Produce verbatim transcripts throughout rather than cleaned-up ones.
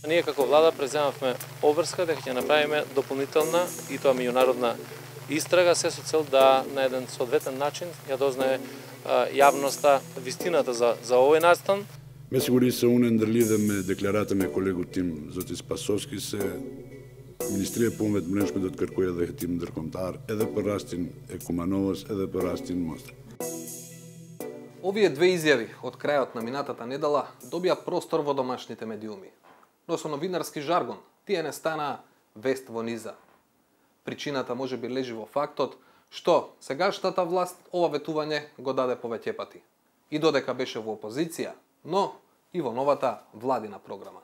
Ние како влада преземавме обврска дека ќе направиме дополнителна и тоа меѓународна истрага, се со цел да на еден соодветен начин ја дознае јавноста вистината за, за овој настан. Ме сигури се унен да лидеме декларата ме колегу Тим Зоти Спасовски се Министрија по умет менеджмент од која да хетим дркомтар, еде порастин екумановост, еде порастин мост. Овие две изјави од крајот на минатата недела добија простор во домашните медиуми. Но со новинарски жаргон, тие не стана вест во низа. Причината може би лежи во фактот што сегашната власт ова ветување го даде повеќе пати. И додека беше во опозиција, но и во новата владина програма.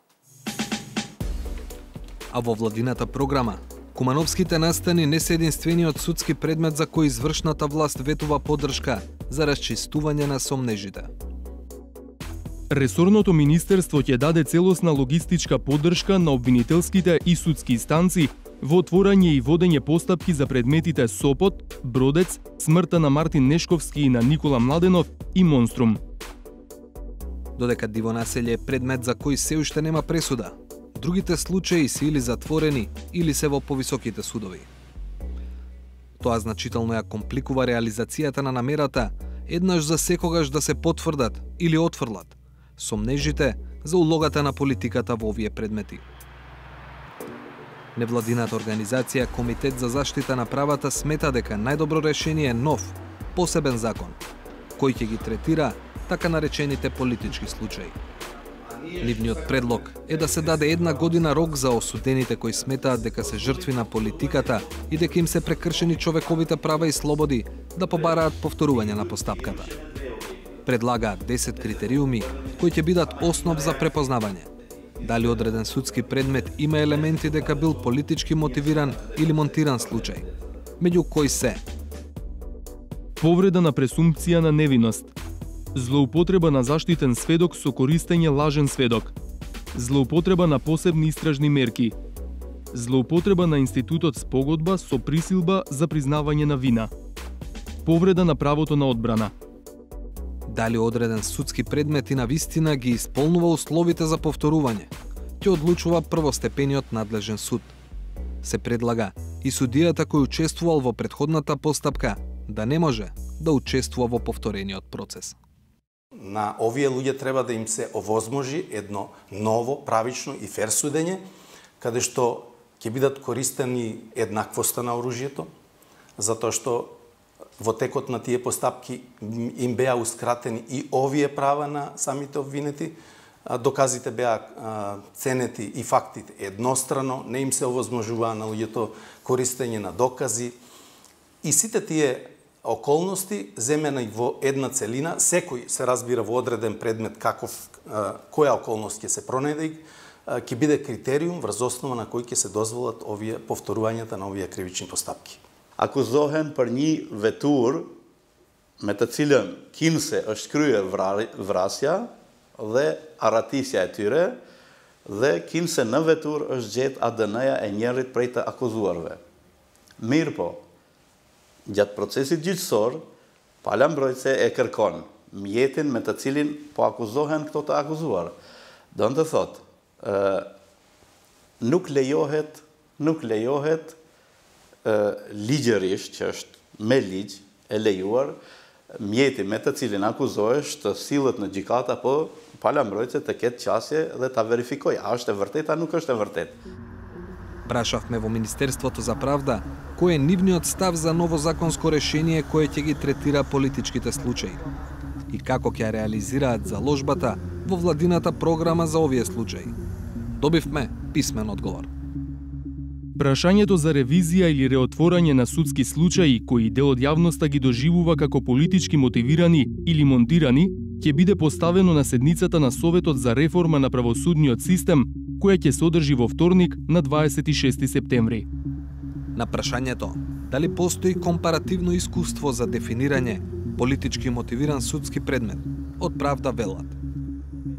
А во владината програма, кумановските настани не се единствениот судски предмет за кој извршната власт ветува поддршка за расчистување на сомнежите. Ресорното министерство ќе даде целосна логистичка поддршка на обвинителските и судски инстанции во отворање и водење постапки за предметите Сопот, Бродец, смртта на Мартин Нешковски и на Никола Младенов и Монструм. Додека дивонаселје е предмет за кој се уште нема пресуда, другите случаи се или затворени, или се во повисоките судови. Тоа значително ја компликува реализацијата на намерата еднаш за секогаш да се потврдат или отфрлат сомнежите за улогата на политиката во овие предмети. Невладината организација Комитет за заштита на правата смета дека најдобро решение е нов, посебен закон, кој ќе ги третира така наречените политички случаи. Нивниот предлог е да се даде една година рок за осудените кои сметаат дека се жртви на политиката и дека им се прекршени човековите права и слободи да побараат повторување на постапката. Предлагаат десет критериуми кои ќе бидат основ за препознавање. Дали одреден судски предмет има елементи дека бил политички мотивиран или монтиран случај, меѓу кои се повреда на пресумпција на невиност, злоупотреба на заштитен сведок со користење лажен сведок, злоупотреба на посебни истражни мерки, злоупотреба на институтот спогодба со присилба за признавање на вина, повреда на правото на одбрана. Дали одреден судски предмет и на вистина ги исполнува условите за повторување, ќе одлучува првостепениот надлежен суд. Се предлага и судијата кој учествувал во претходната постапка да не може да учествува во повторениот процес. На овие луѓе треба да им се овозможи едно ново, правично и фер судење, каде што ќе бидат користени еднаквоста на оружјето, затоа што во текот на тие постапки им беа ускратени и овие права на самите обвинети, доказите беа ценети и фактите еднострано, не им се овозможува на луѓето користење на докази и сите тие околности земени во една целина, секој се разбира во одреден предмет каков, која околност ќе се пронајде, ќе биде критериум врз основа на кој ќе се дозволат овие повторувањата на овие кривични постапки. Akuzohen për një vetur me të cilën kinse është kryer vrasja dhe arratisja e tyre dhe kinse në vetur është gjetë A D N-ja e njërit prej të akuzuarve. Mirë po, gjatë procesit gjyqësor, pala mbrojtëse e kërkon mjetin me të cilin po akuzohen këto të akuzuar. Do në të thotë, nuk lejohet, nuk lejohet ligjërisht, që është me ligj e lejuar, mjeti me të cilin akuzohesh të sillet në gjykata, po pala mbrojtëse të ketë qasje dhe ta verifikoj, a është e vërtet, a nuk është e vërtet. Прашавме во Министерството за правда кој е нивниот став за ново законско решение кое ќе ги третира политичките случаи и како ќе реализираат заложбата во владината програма за овие случаи. Добивме писмен одговор. Прашањето за ревизија или реотворање на судски случаи кои дел од јавноста ги доживува како политички мотивирани или монтирани, ќе биде поставено на седницата на Советот за реформа на правосудниот систем, која ќе се одржи во вторник на дваесет и шести септември. На прашањето дали постои компаративно искуство за дефинирање политички мотивиран судски предмет, од правда велат.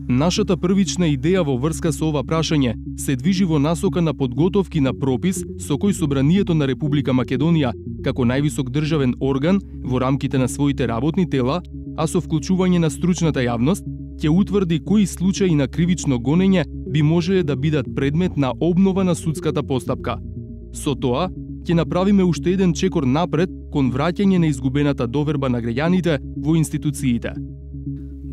Нашата првична идеја во врска со ова прашање се движи во насока на подготовки на пропис со кој Собранието на Република Македонија, како највисок државен орган во рамките на своите работни тела, а со вклучување на стручната јавност, ќе утврди кои случаи на кривично гонење би можеле да бидат предмет на обнова на судската постапка. Со тоа, ќе направиме уште еден чекор напред кон враќање на изгубената доверба на граѓаните во институциите.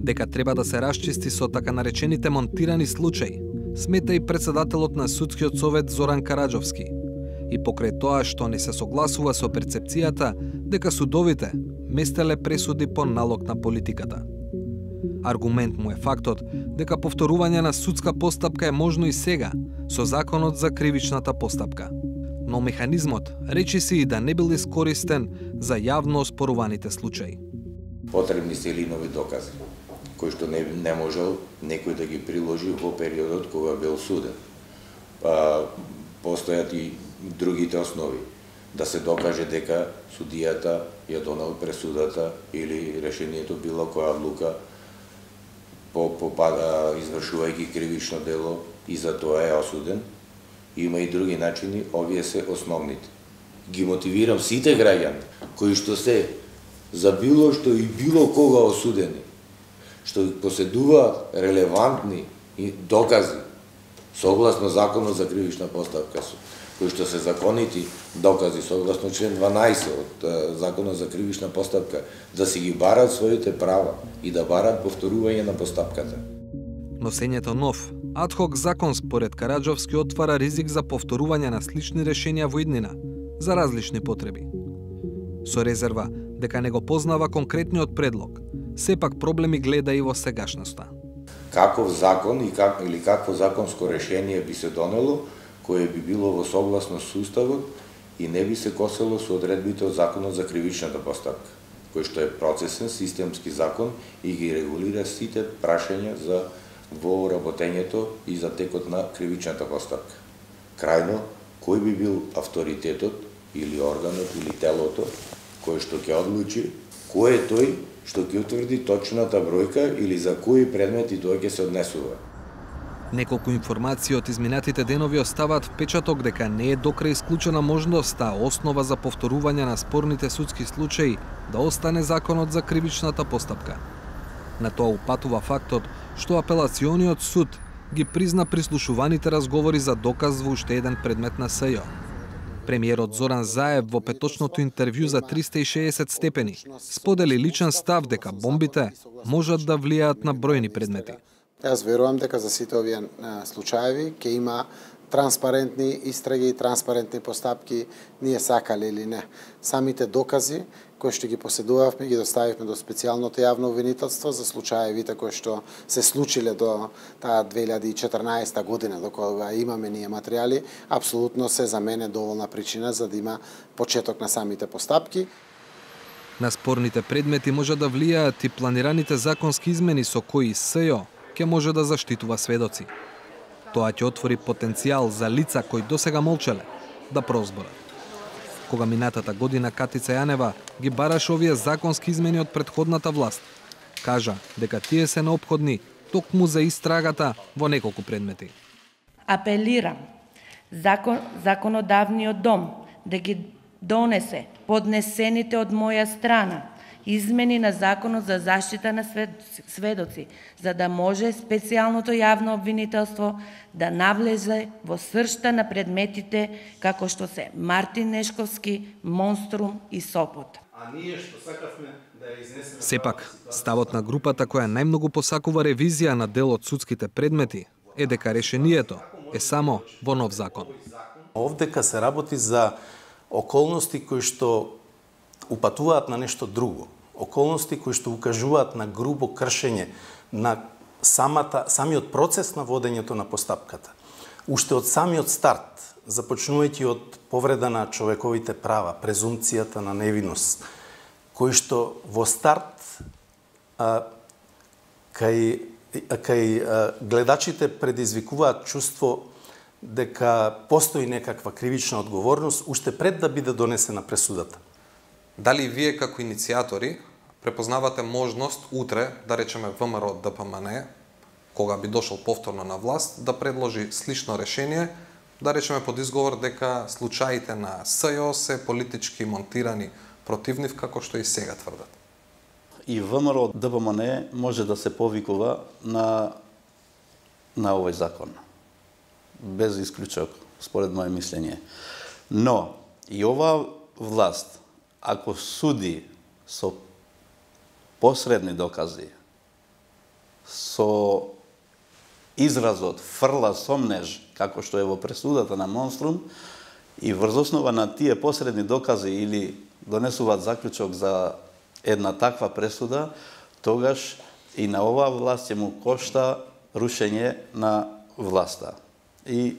Дека треба да се расчисти со така наречените монтирани случаи, смета и председателот на Судскиот совет Зоран Караџовски. И покрај тоа што не се согласува со перцепцијата дека судовите местеле пресуди по налог на политиката. Аргумент му е фактот дека повторување на судска постапка е можно и сега со Законот за кривичната постапка. Но механизмот речиси и да не бил искористен за јавно оспоруваните случаи. Потребни се или нови докази, кои што не, не можел некој да ги приложи во периодот кога бил суден. А, постојат и другите основи. Да се докаже дека судијата ја донел пресудата или решението било која одлука по, по, извршувајќи кривично дело и за тоа е осуден. Има и други начини, овие се основните. Ги мотивирам сите граѓани кои што се за било што и било кога осудени, што поседува релевантни докази согласно Законот за кривична постапка, кои што се законити докази согласно член дванаесет од Законот за кривична постапка, да си ги барат своите права и да барат повторување на постапката. Носењето нов адхок закон според Караџовски отвара ризик за повторување на слични решенија во иднина за различни потреби. Со резерва дека не го познава конкретниот предлог, сепак проблеми гледа и во сегашноста. Каков закон и как, или какво законско решение би се донело кое би било во согласност со уставот и не би се косело со одредбите од Законот за кривичната постапка, кој што е процесен системски закон и ги регулира сите прашања за во работењето и за текот на кривичната постапка. Крајно, кој би бил авторитетот или органот или телото кој што ќе одлучи кој е тој што ќе утврди точната бројка или за кои предмети тоа ќе се однесува. Неколку информации од изминатите денови оставаат впечаток дека не е докрај исклучена можноста основа за повторување на спорните судски случаи да остане Законот за кривичната постапка. На тоа упатува фактот што апелациониот суд ги призна прислушуваните разговори за доказ во уште еден предмет на СЈО. Премиерот Зоран Заев во петочното интервју за триста и шеесет степени сподели личен став дека бомбите можат да влијаат на бројни предмети. Јас верувам дека за сите овие случаеви ќе има транспарентни истраги и транспарентни постапки, ние сакале или не. Самите докази кои што ги поседувавме ги доставивме до специјалното јавно обвинителство за случаевите кои што се случиле до таа две илјади и четрнаесета година, до кога имаме ние материјали, апсолутно се за мене доволна причина за да има почеток на самите постапки. На спорните предмети може да влијаат и планираните законски измени со кои СЈО ќе може да заштитува сведоци. Тоа ќе отвори потенцијал за лица кои досега молчеле да прозборат. Кога минатата година Катица Јанева ги бараше овие законски измени од претходната власт, кажа дека тие се неопходни токму за истрагата во неколку предмети. Апелирам закон, законодавниот дом да ги донесе поднесените од моја страна измени на Законот за заштита на сведоци, за да може специјалното јавно обвинителство да навлезе во сршта на предметите како што се Мартин Нешковски, Монструм и Сопот. А ние што сакавме да ја изнесеме... Сепак, ставот на групата која најмногу посакува ревизија на дел од судските предмети е дека решението е само во нов закон. Овдека се работи за околности кои што упатуваат на нешто друго, околности кои што укажуваат на грубо кршење на самата, самиот процес на водењето на постапката. Уште од самиот старт, започнувајќи од повреда на човековите права, презумпцијата на невиност, кои што во старт а, кај, кај а, гледачите предизвикуваат чувство дека постои некаква кривична одговорност уште пред да биде донесена пресудата. Дали вие како иницијатори препознавате можност утре, да речеме ВМРО ДПМН, кога би дошол повторно на власт, да предложи слично решение, да речеме под изговор дека случаите на СЈО се политички монтирани против нив, како што и сега тврдат? И ВМРО ДПМН може да се повикува на, на овој закон. без исклучок, според моје мислење. Но, и оваа власт, ако суди со посредни докази, со изразот фрла сомнеж, како што е во пресудата на Монструм, и врз основа на тие посредни докази или донесуваат заклучок за една таква пресуда, тогаш и на оваа власт ќе му кошта рушење на власта и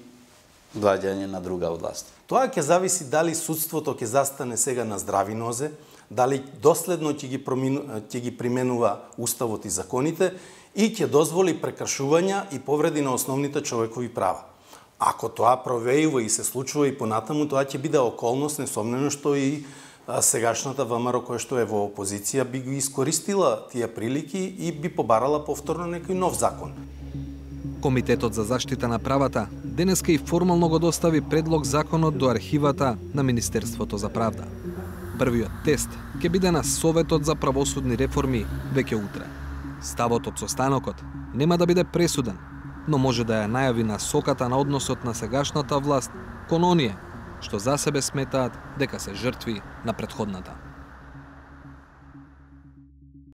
доаѓање на друга власт. Тоа ќе зависи дали судството ќе застане сега на здрави нозе, дали доследно ќе ги, промину, ќе ги применува уставот и законите и ќе дозволи прекршувања и повреди на основните човекови права. Ако тоа провеива и се случува и понатаму, тоа ќе биде околност, несомнено што и сегашната ВМРО која што е во опозиција би ги искористила тие прилики и би побарала повторно некој нов закон. Комитетот за заштита на правата денеска и формално го достави предлог законот до архивата на Министерството за правда. Првиот тест ќе биде на Советот за правосудни реформи веќе утре. Ставот од состанокот нема да биде пресуден, но може да ја најави насоката на односот на сегашната власт кон оние што за себе сметаат дека се жртви на претходната.